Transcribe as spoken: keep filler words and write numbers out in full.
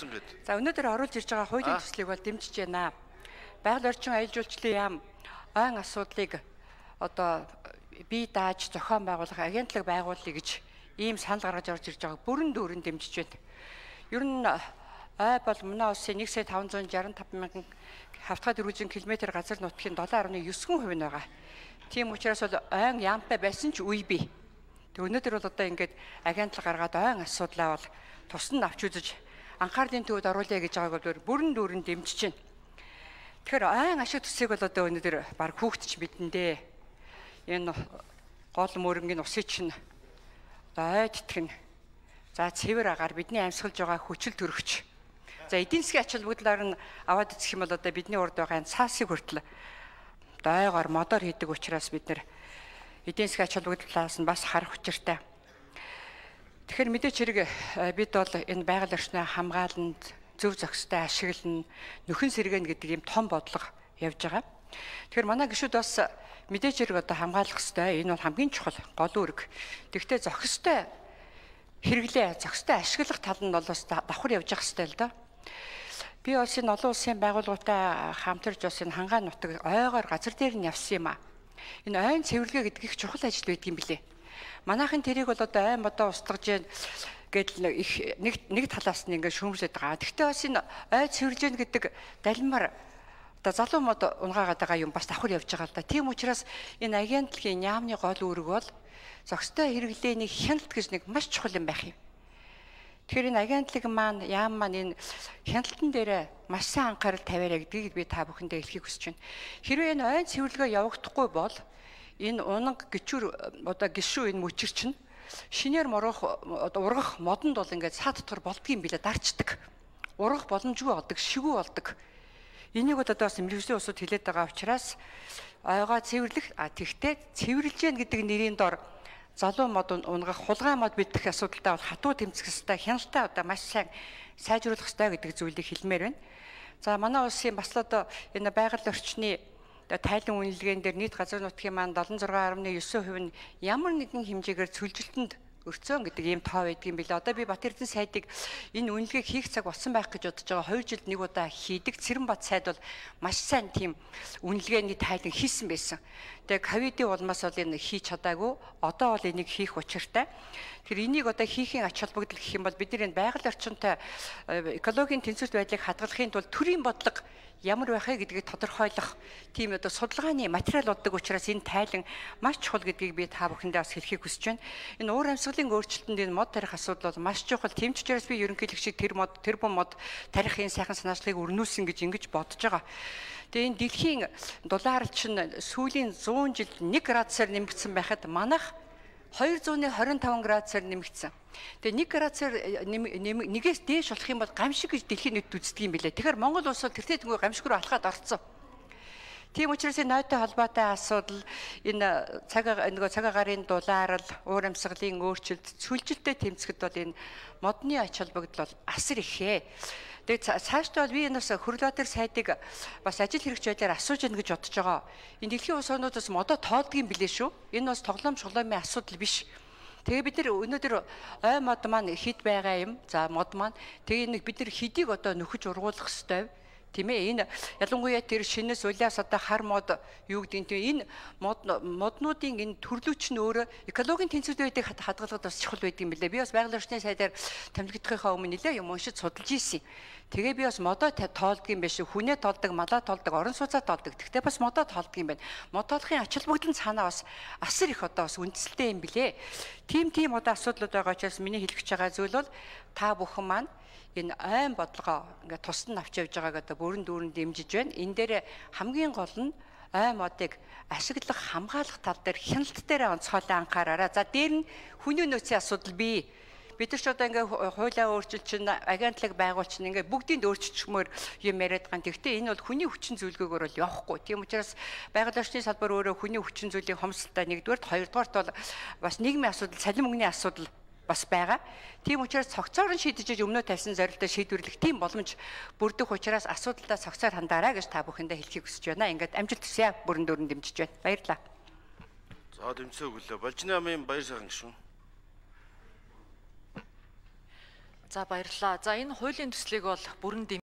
өгсөн гэд. За өнөөдөр оруулж ирж байгаа хуулийн төслийг бол дэмжиж байна. Байгаль орчин аялал жуулчлалын яам ойн асуудлыг одоо бие дааж зохион байгуулах агентлаг байгуулъя гэж ийм санал гаргаж орж ирж байгааг бүрэн дүүрэн дэмжиж байна. Ер нь ой бол манай улсын нэг сая таван зуун шаран таван мянган хавтгай дөрвөн километр газар нутгийн долоо орны девять хувь нь байгаа. Тийм учраас бол ойн яамтай байсан ч үе бий. Тэг өнөөдөр бол одоо ингээд агентлаг гаргаад ойн асуудлаа бол тусна авч үзэж анхаарлын төвөд оруулъя гэж байгааг бол бүрэн дүүрэн дэмжиж байна. Тэгэхээр ойн ашиг төсийг бол одоо өнөөдөр баг хүүхдч бидэндээ энэ гол мөрөнгийн усыг чинь ой тэтгэн. За цэвэр агаар бидний амьсгалж байгаа хүчил төрөгч. За эдийн засгийн ач холбогдлоор нь аваад үзэх юм бол одоо бидний урд байгаа цаасыг хүртэл ойгоор модоор хийдэг учраас бид нэр эдийн засгийн ач холбогдлоос нь бас харах учиртай. Тэгэхээр мэдээч хэрэг бид бол энэ байгаль орчныг хамгааланд зөв зохистой ашиглана, нөхөн сэргэн гэдэг ийм том бодлого явж байгаа. Тэгэхээр манай гишүүд бас мэдээч хэрэг одоо хамгаалах ёстой. Энэ бол хамгийн чухал гол үүрэг. Тэгвэл зохистой хэрэглээ, зохистой ашиглах тал нь бол бас давхар явж явах ёстой л доо. Би бас энэ олон улсын байгууллагатай хамтарч бас энэ хангаан нутаг ойгоор газар дээр нь явсан юм а. Энэ ойн цэвэрлэгээ гэдэг их чухал ажил байдаг юм билэ. Манайхын тэрийг бол одоо ай модоо устгаж яа гэдэл их нэг нэг талаас нь ингээд шүүмжлээд байгаа. Гэхдээ бас энэ ой цэвэрлж яа гэдэг далимар одоо залуу мод унгаагаад байгаа юм бас давхар явж байгаа л да. Тийм учраас энэ агентлагийн яамны гол үүрэг бол зохистой хэрэглээний хяналт гэж нэг маш чухал юм байх юм. Тэгэхээр энэ агентлаг маань яам маань энэ хяналтан дээр маш сайн анхаарал тавиараа гэдгийг би та бүхэндээ хэлхийг хүсэж байна. Хэрвээ энэ ойн цэвэрлэгээ явагдахгүй бол энэ унаг гिचүр одоо гişүү энэ мөчир чинь шинээр морох одоо ургах модонд бол ингээд саад дотор болдгийм билээ дарчдаг. Ургах боломжгүй болдог, шигүү болдог. Энийг одоо бас мэрэгжлийн усуд хэлээд байгаа учраас ойгоо цэвэрлэх а тэгтээ цэвэрлж яах гэдэг нэрийн дор залуу мод унгах хулгай мод бидэх асуудалтай бол хатуу тэмцэх ёстой, хяналтаа одоо маш сайн сайжруулах ёстой гэдэг зүйлийг хэлмээр байна. За манай улсын бас л одоо энэ байгаль орчны тайлан үнэлгээн дээр нийт газар нутгийн маань седем и шесть дэх девять хувь нь ямар нэгэн хэмжээгээр цөлжилтөнд өрцөөн гэдэг ийм тоо байдаг юм билээ. Одоо би Батэрдэн сайдыг энэ үнэлгээг хийх цаг болсон байх гэж бодож байгаа. хоёр жилд нэг удаа хийдэг. Цэранбат сайд бол маш сайн тийм үнэлгээний тайлан хийсэн байсан. Тэгээ ковидын улмаас бол энэ хийж чадаагүй. Одоо бол энийг хийх учиртай. Тэгэхээр энийг одоо хийхийн ач холбогдол гэх юм бол бид энэ байгаль орчинтой экологийн тэнцвэрт байдлыг хадгалахын тулд төрийн бодлого ямар байх вэ гэдгийг тодорхойлох тийм одоо судалгааны материал болдог учраас энэ тайлан маш чухал гэдгийг би та бүхэндээ бас хэлхийг хүсэж байна. Энэ уур амьсгалын өөрчлөлтөнд энэ мод тарих асуудал бол маш чухал. Тийм ч учраас би ерөнхийлөгчийг тэр мод тэр бум мод тарихын сайхан санаачлалыг өрнүүлсэн гэж ингэж бодож байгаа. Тэгээ энэ дэлхийн дулаар чинь сүүлийн зуун жил нэг градусаар нэмэгдсэн байхад манайх хоёр зуун хорин таван градусаар нэмэгдсэн. Тэгээ нэг градусаар нэгээс дээш болох юм бол гамшиг гэж дэлхийн нийт үздэг юм билээ. Тэгэхээр Монгол улс бол тэртээ тэнгуй гамшиг руу алхаад орцсон. Тийм учраас энэ ноётой холбоотой асуудал энэ цаг нөгөө цаг агарын дулаарл, уур амьсгалын өөрчлөлт, цөлжилтөд тэмцэхэд бол энэ модны ач холбогдол бол асар ихээ. Тэгээ цаашдаа бол би энэ бас хөрөлбаатар сайдыг бас ажил хэрэгч байдлаар асууж яах гэж бодож байгаа. Энэ дэлхийн улс орнуудаас модоо тоолдгийм билээ шүү. Энэ бас тоглоом шуглаамын асуудал биш. Тэгээ бид нар өнөөдөр ой мод маань хэд байгаа юм. За мод маань тэгээ нэг бид нар хэдийг одоо нөхөж ургуулах ёстой. Тийм ээ энэ ялангуяа тэр шинэс улаас одоо хар мод юу гэдэг нь энэ мод моднуудын энэ төрлөөч нь өөрөө экологийн тэнцвэрт байдгийг хадгалахад бас чухал байдаг юм билээ. Би бас байгаль орчны сайдаар томилогдохынхаа өмнө нэлээ юм уншиж судалж ийсэн. Тэгээ би бас модоо тоолдог юм биш үү? Хүнээ тоолдог, малаа тоолдог, орон сууцаа тоолдог. Тэгтээ бас модоо тоолдог юм байна. Мод тоолохын ач холбогдол цаанаа бас асар их одоо бас үндэслэлтэй юм билээ. Тим тим одоо асуудлууд байгаа учраас миний хэлэх гэж байгаа зүйл бол та бүхэн маань энэ айн бодлогоо ингээд тусад нь авч явж байгааг одоо бүрэн дүүрэн дэмжиж байна. Энэ дээр хамгийн гол нь ай модыг ашиглах, хамгаалах тал дээр хяналт дээр онцгойлон анхаараарай. За дээр нь хүний нөөцийн асуудал бий. Бид нар ч одоо ингээ хуулиа өөрчилж чинь агентлаг байгуулч чинь ингээ бүгдийг өөрчилчмөр юм яриад байгаа. Тэгвэл энэ бол хүний хүчин зүйлгүйгээр бол явахгүй. Тийм учраас байгаль орчны салбар өөрөө хүний хүчин зүйлийн хомсдолтой нэгдүгээрт, хоёрдугаарт бол бас нийгмийн асуудал, цалин мөнгөний асуудал бас байгаа. Тийм учраас цогцоор нь шийдэж өмнөө тавьсан зорилтоо шийдвэрлэх тийм боломж бүрдэх учраас асуудалдаа цогцоор хандаарай гэж та бүхэндээ хэлхийг хүсэж байна. Ингээд амжилт хүсье. Бүрэн дүүрэн дэмжиж байна. Баярлалаа. За дэмцээ өглөө. Болжны амын баяр сайхан гişүн. За баярлалаа. За энэ хуулийн төслийг бол бүрэн